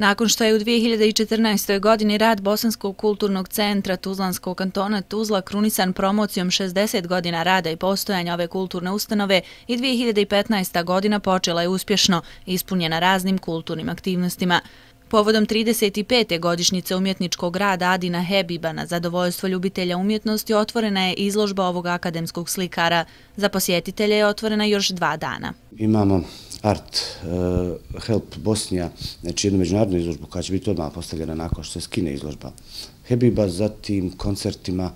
Nakon što je u 2014. godini rad Bosanskog kulturnog centra Tuzlanskog kantona Tuzla krunisan promocijom 60 godina rada i postojanja ove kulturne ustanove, i 2015. godina počela je uspješno, ispunjena raznim kulturnim aktivnostima. Povodom 35. godišnjice umjetničkog rada Adina Hebiba na zadovoljstvo ljubitelja umjetnosti otvorena je izložba ovog akademskog slikara. Za posjetitelje je otvorena još 2 dana. Imamo Art Help Bosnija, znači jednu međunarodnu izložbu koja će biti odmah postavljena nakon što se skine izložba Hebiba, zatim koncertima.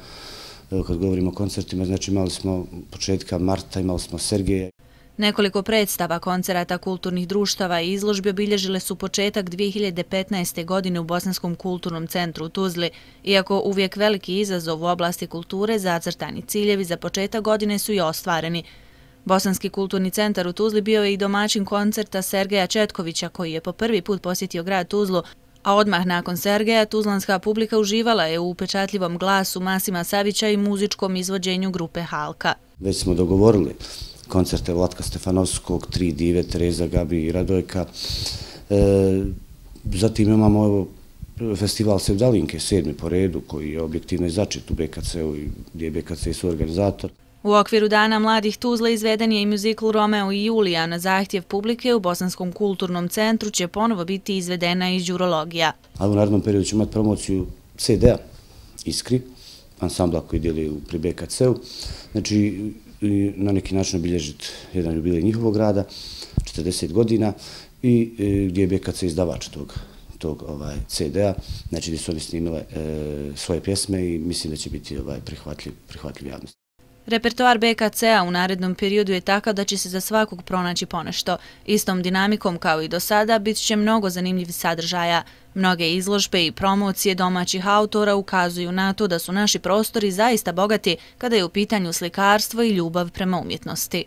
Kad govorimo o koncertima, znači imali smo početka marta, imali smo Sergeja. Nekoliko predstava, koncerata kulturnih društava i izložbi obilježile su početak 2015. godine u Bosanskom kulturnom centru u Tuzli. Iako uvijek veliki izazov u oblasti kulture, zacrtani ciljevi za početak godine su i ostvareni. Bosanski kulturni centar u Tuzli bio je i domaćin koncerta Sergeja Četkovića, koji je po prvi put posjetio grad Tuzlu, a odmah nakon Sergeja tuzlanska publika uživala je u upečatljivom glasu Masima Savića i muzičkom izvođenju grupe Halka. Već smo dogovorili koncerte Vlatka Stefanovskog, 3 dive, Tereza, Gabi i Radojka. Zatim imamo festival Sevdalinke, 7. po redu, koji je objektivno začet u BKC-u i gdje je BKC suorganizator. U okviru Dana mladih Tuzla izveden je i muzikl Romeo i Julija. Na zahtjev publike u Bosanskom kulturnom centru će ponovo biti izvedena i đurologija. A u narednom periodu ćemo imati promociju CD-a Iskri, ansambla koji djeluje pri BKC-u. Znači, na neki način obilježiti jedan jubilej njihovog rada, 40 godina, i gdje je BKC izdavač tog CD-a, znači gdje su oni snimile svoje pjesme i mislim da će biti prihvatljiv javnosti. Repertoar BKC-a u narednom periodu je takav da će se za svakog pronaći ponešto. Istom dinamikom kao i do sada bit će mnogo zanimljivih sadržaja. Mnoge izložbe i promocije domaćih autora ukazuju na to da su naši prostori zaista bogati kada je u pitanju slikarstvo i ljubav prema umjetnosti.